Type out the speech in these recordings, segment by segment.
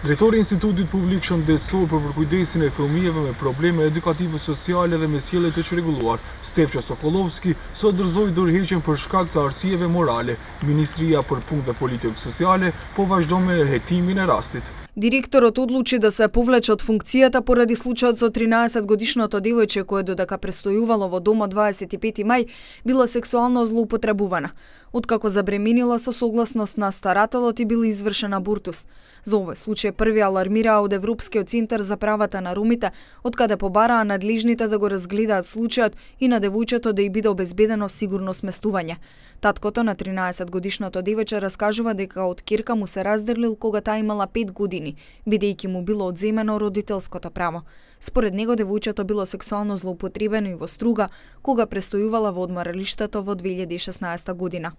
Drejtori i Institutit Publik Shëndetësor për përkujdesjen e fëmijëve me probleme edukative sociale dhe me sjellje të çrregulluar, Stefqa Sokolovski, sot dorëzoi dorëheqjen për shkak të arsyeve morale. Ministria për Punë dhe Politikë Sociale po vazhdon me hetimin e rastit. Директорот одлучи да се повлече од функцијата поради случајот со 13-годишното девојче кое додека престојувало во домот 25 мај била сексуално злоупотребувана. Откако забременила со согласност на старателот и бил извршен абортус. За овој случај први алармираа од Европскиот центар за правата на ромите, откаде побараа надлежните да го разгледаат случајот и на девојчето да ѝ биде обезбедено сигурно сместување. Таткото на 13-годишното девојче раскажува дека од ќерка му се разделил кога таа имала 5 години, бидејќи му било одземено родителското право. Според него девојчето било сексуално злоупотребено и во Струга, кога престојувала во одморалиштето во 2016 година.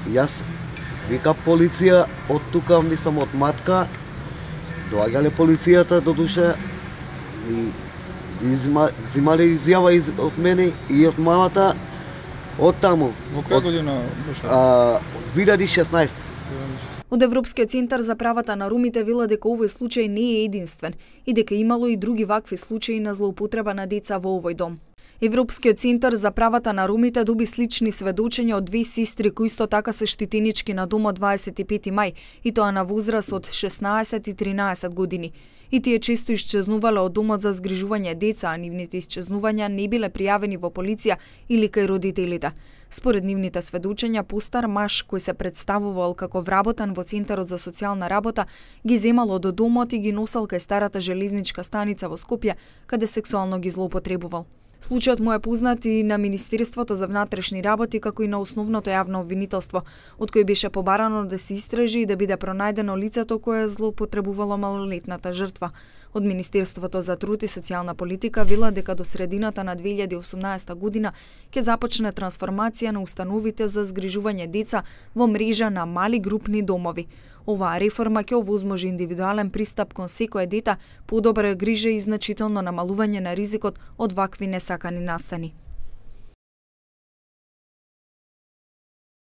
Јас вика полиција од тука, мислам од матка, доаѓале полицијата до душа и зимале изјава од мене и од мамата од таму. Во која година беше? 2016. Од Европскиот центар за правата на ромите вела дека овој случај не е единствен и дека имало и други вакви случаи на злоупотреба на деца во овој дом. Европскиот центар за правата на ромите доби слични сведочења од две сестри кои исто така се штитенички на домот 25 мај, и тоа на возраст од 16 и 13 години. И тие често исчезнувале од домот за згрижување деца, а нивните исчезнувања не биле пријавени во полиција или кај родителите. Според нивните сведочења, постар маж кој се представувал како вработен во Центарот за социјална работа, ги земал од домот и ги носел кај старата железничка станица во Скопје, каде сексуално ги злоупотребувал. Случајот му е познат и на Министерството за внатрешни работи, како и на основното јавно обвинителство, од кој беше побарано да се истражи и да биде пронајдено лицето кое злоупотребувало малолетната жртва. Од Министерството за труд и социјална политика вела дека до средината на 2018 година ќе започне трансформација на установите за згрижување деца во мрежа на мали групни домови. Оваа реформа ќе овозможи индивидуален пристап кон секое дете, подобра грижа и значително намалување на ризикот од вакви несакани настани.